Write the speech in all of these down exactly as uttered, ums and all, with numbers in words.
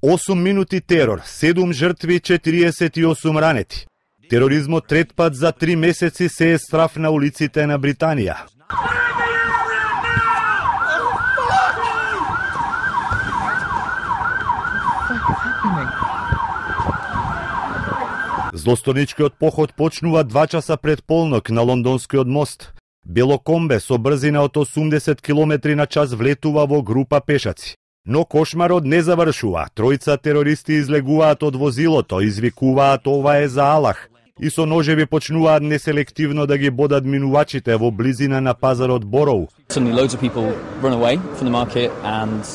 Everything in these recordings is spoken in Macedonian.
осум минути терор, седум жртви, четириесет и осум ранети. Тероризмот трет пат за три месеци се е страф на улиците на Британија. Злосторничкиот поход почнува два часа пред полнок на лондонскиот мост. Белокомбе со брзина од осумдесет километри на час влетува во група пешаци. Но кошмарот не завршува. Тројца терористи излегуваат од возилото, извикуваат ова е за Аллах и со ножеви почнуваат неселективно да ги бодат минувачите во близина на пазарот Бороу.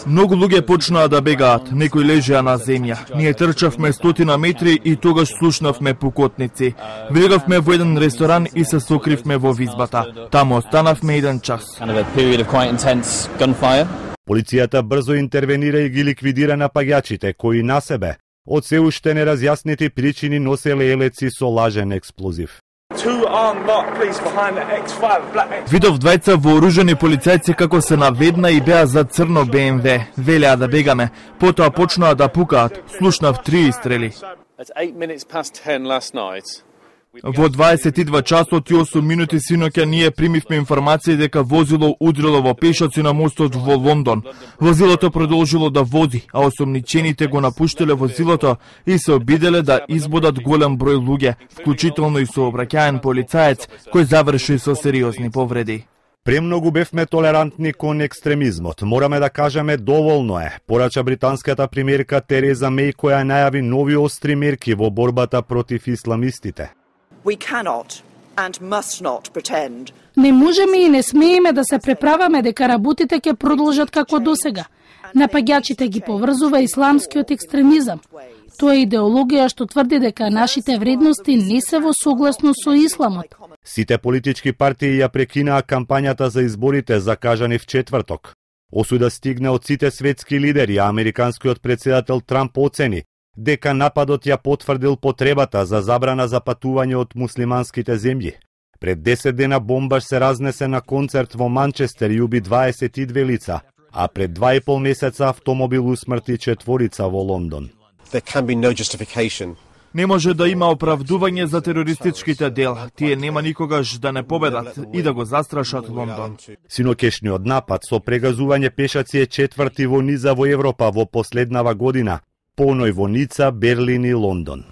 Многу луѓе почнаа да бегаат, некои лежеа на земја. Ние трчавме стотина метри и тогаш слушнавме пукотници. Влегавме во еден ресторан и се сокривме во визбата. Таму останавме еден час. Полицијата брзо интервенира и ги ликвидира напаѓачите, кои на себе од се уште неразјаснети причини носеле елеци со лажен експлозив. Видов двајца вооружени полицајци како се наведна и беа за црно Б М В. Велеа да бегаме, потоа почнаа да пукаат. Слушнав три истрели. Во дваесет и два часот и осум минути синоќа ние примивме информација дека возило удрило во пешаци на мостот во Лондон. Возилото продолжило да вози, а осомничените го напуштиле возилото и се обиделе да избодат голем број луѓе, вклучително и сообраќаен полицаец, кој заврши со сериозни повреди. Премногу бевме толерантни кон екстремизмот. Мораме да кажеме доволно е, порача британската премиерка Тереза Меј, која најави нови остри мерки во борбата против исламистите. We cannot and must not pretend. Не можеме и не смееме да се преправаме дека работите ќе продолжат како досега. Напаѓачите ги поврзува исламскиот екстремизам. Тоа е идеологија што тврди дека нашите вредности не се во согласно со исламот. Сите политички партии ја прекинаа кампањата за изборите закажани в четврток. Осуда стигна од сите светски лидери, а американскиот претседател Трамп оцени дека нападот ја потврдил потребата за забрана за патување од муслиманските земји. Пред десет дена бомбаш се разнесе на концерт во Манчестер и уби дваесет и две лица, а пред два и пол месеца автомобил усмрти четворица во Лондон. Не може да има оправдување за терористичките дела. Тие нема никогаш да не победат и да го застрашат Лондон. Синокешниот напад со прегазување пешаци е четврти во низа во Европа во последнава година, поној во Ница, Берлин и Лондон.